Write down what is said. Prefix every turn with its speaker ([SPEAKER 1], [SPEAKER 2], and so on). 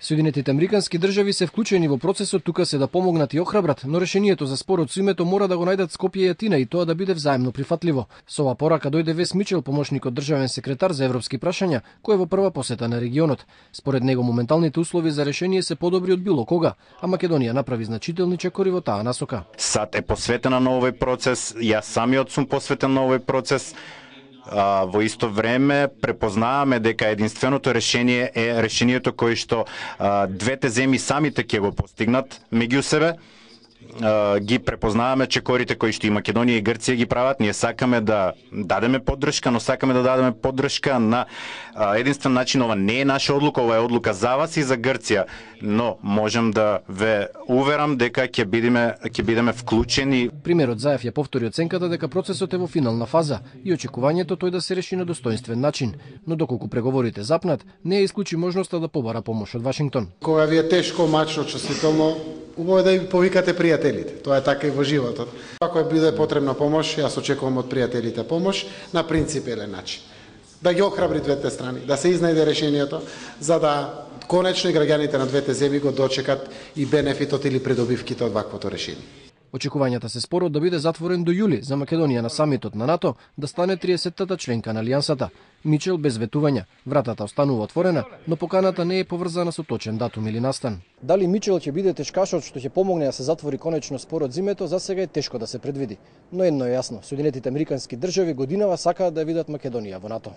[SPEAKER 1] Соединетите американски држави се вклучени во процесот, тука се да помогнат и охрабрат, но решението за спорот со името мора да го најдат Скопје и Атина и тоа да биде взаемно прифатливо. Со оваа порака дојде Вес Мичел, помошник од државен секретар за европски прашања, кој е во прва посета на регионот. Според него моменталните услови за решение се подобри од било кога, а Македонија направи значителни чекори во таа насока.
[SPEAKER 2] САД е посветена на овој процес, јас самиот сум посветен на овој процес. Во исто време препознаваме дека единственото решение е решението кое што двете земји самите ќе го постигнат меѓу себе. Ги препознаваме чекорите кои што и Македонија и Грција ги прават. Ние сакаме да дадеме поддршка, но сакаме да дадеме поддршка на единствен начин. Ова не е наша одлука, ова е одлука за вас и за Грција, но можем да ве уверам дека ќе бидеме вклучени.
[SPEAKER 1] Примерот Заев ја повтори оценката дека процесот е во финална фаза и очекувањето тој да се реши на достоинствен начин, но доколку преговорите запнат, не ја исклучи можноста да побара помош од Вашингтон.
[SPEAKER 3] Кога ви е тешко, мачно, чувствително, убаво е да ви повикате пријателите. Тоа е така и во животот. Ако биде потребна помош, јас очекувам од пријателите помош на принципелен начин. Да ги охрабри двете страни, да се изнајде решението, за да конечно и граѓаните на двете земји го дочекат и бенефитот или придобивките од ваквото решение.
[SPEAKER 1] Очекувањата се спорот да биде затворен до јули за Македонија на самитот на НАТО да стане 30-тата членка на Алијансата. Мичел без ветувања. Вратата останува отворена, но поканата не е поврзана со точен датум или настан. Дали Мичел ќе биде тешкашот што ќе помогне да се затвори конечно спорот зимето, за сега е тешко да се предвиди. Но едно е јасно, Соединетите американски држави годинава сакаат да видат Македонија во НАТО.